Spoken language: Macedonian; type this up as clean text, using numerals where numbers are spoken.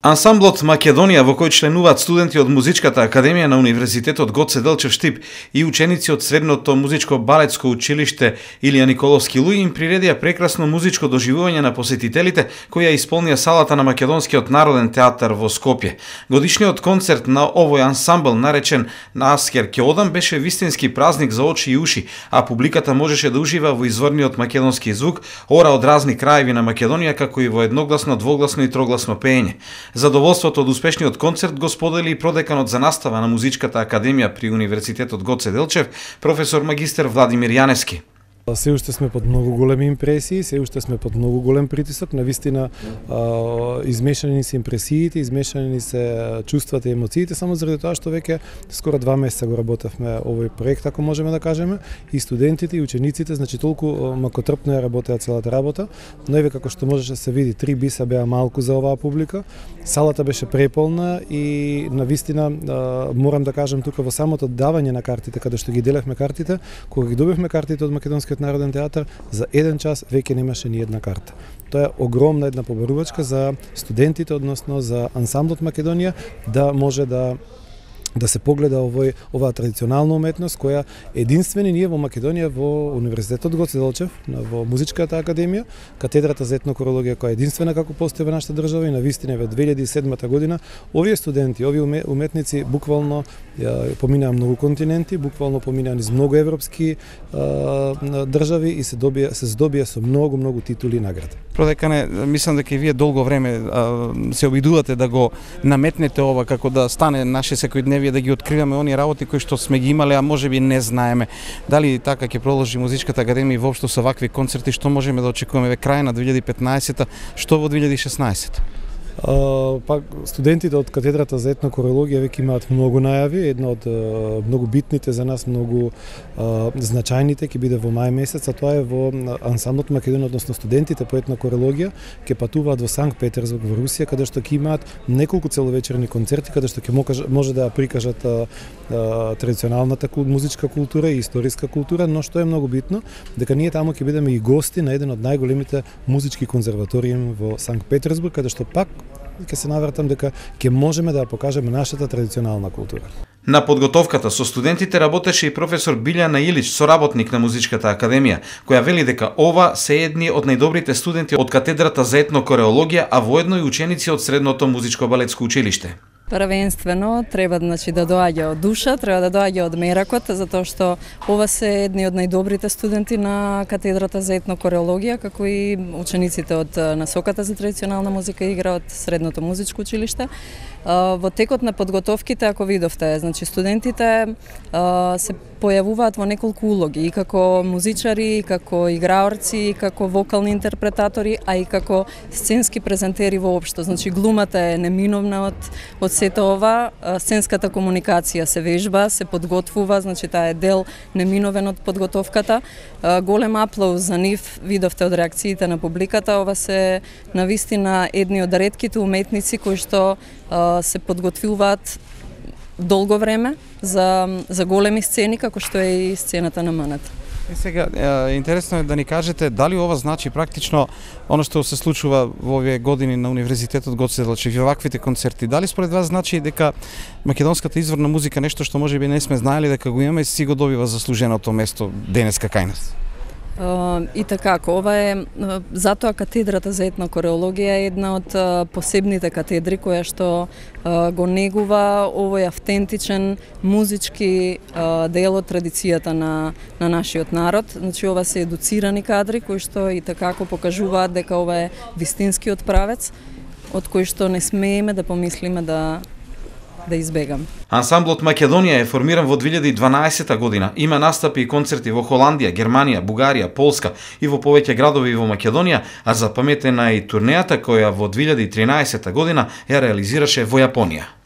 Ансамблот Македонија, во кој членуваат студенти од Музичката академија на Универзитетот Гоце Делчев Штип и ученици од Средното музичко балетско училиште Илија Николовски Луј, им приредија прекрасно музичко доживување на посетителите кои ја исполнија салата на Македонскиот народен театар во Скопје. Годишниот концерт на овој ансамбл, наречен на Аскер ќе одам, беше вистински празник за очи и уши, а публиката можеше да ужива во изворниот македонски звук, ора од разни краеви на Македонија, како и во едногласно, двогласно и трогласно пеење. Задоволството од успешниот концерт го сподели и продеканот за настава на Музичката академија при Универзитетот Гоце Делчев, професор магистер Владимир Јаневски. Се уште сме под многу големи импресии, се уште сме под многу голем притисок, навистина измешани се импресиите, измешани се чувствата и емоциите, само заради тоа што веќе скоро 2 месеца го работевме овој проект, ако можеме да кажеме, и студентите и учениците, значи толку макотрпно ја работеа целата работа, но еве како што можеше да се види, 3 биса беа малку за оваа публика, салата беше преполна и навистина морам да кажам тука во самото давање на картите, каде што ги делевме картите, кога ги добивме картите од Македонскиот народен театар, за 1 час веќе немаше ни една карта. Тоа е огромна една побарувачка за студентите, односно за ансамблот Македонија, да може да се погледа оваа традиционална уметност која единствени ние во Македонија во Универзитетот Гоце Делчев, во Музичката академија, катедрата за етнокорологија која е единствена како постои во нашата држава, и навистина во 2007 година овие студенти, овие уметници буквално поминаа многу континенти, буквално поминаа низ многу европски држави и се здобија со многу титули и награди. Продекане, мислам дека и вие долго време се обидувате да го наметнете ова како да стане наше секојдневие, да ги откриваме оние работи кои што сме ги имале, а можеби не знаеме. Дали така ќе продолжи Музичката академија и воопшто со вакви концерти, што можеме да очекуваме ве крај на 2015-та, што во 2016-та? Студентите од катедрата за етнокорологија веќе имаат многу најави. Една од многу битните за нас, многу значајните ќе биде во мај месец, а тоа е во ансамблот Македонија, односно студентите по етнокорологија ќе патуваат во Санкт Петерсбург во Русија, каде што ќе имаат неколку целовечерни концерти, каде што ќе може да прикажат традиционалната музичка култура и историска култура, но што е многу битно, дека ние таму ќе бидеме и гости на еден од најголемите музички конзерваториуми во Санкт Петерсбург, каде што пак ќе се навратам дека ќе можеме да покажеме нашата традиционална култура. На подготовката со студентите работеше и професор Билјана Илич, соработник на Музичката академија, која вели дека ова се едни од најдобрите студенти од катедрата за етнокорологија, а воедно и ученици од Средното музичко балетско училиште. Првенствено треба да доаѓа од душа, треба да доаѓа од меракот, затоа што ова се едни од најдобрите студенти на катедрата за етнокорологија, како и учениците од насоката за традиционална музика и игра од Средното музичко училиште. Во текот на подготовките, ако видовте, значи студентите се појавуваат во неколку улоги, и како музичари, и како играорци, и како вокални интерпретатори, а и како сценски презентери воопшто. Значи глумата е неминовна од сето ова, сценската комуникација се вежба, се подготвува, значи таа е дел неминовен од подготовката. Голем аплауз за нив, видовте од реакциите на публиката, ова се навистина едни од ретките уметници кои што се подготвуваат долго време за големи сцени, како што е и сцената на МНТ. И сега, интересно е да ни кажете дали ова значи практично оно што се случува во овие години на Универзитетот Гоце Делчев и ваквите концерти. Дали според вас значи дека македонската изворна музика, нешто што можеби не сме знаели дека го имаме, си го добива заслуженото место денеска кај нас? И така, ова е затоа катедрата за етнокорологија е една од посебните катедри која што го негува овој автентичен музички дел од традицијата на нашиот народ. Значи ова се едуцирани кадри кои што и така покажуваат дека ова е вистинскиот правец од кој што не смееме да помислиме да избегам. Ансамблот Македонија е формиран во 2012 година. Има настапи и концерти во Холандија, Германија, Бугарија, Полска и во повеќе градови во Македонија, а запаметена е и турнејата која во 2013 година ја реализираше во Јапонија.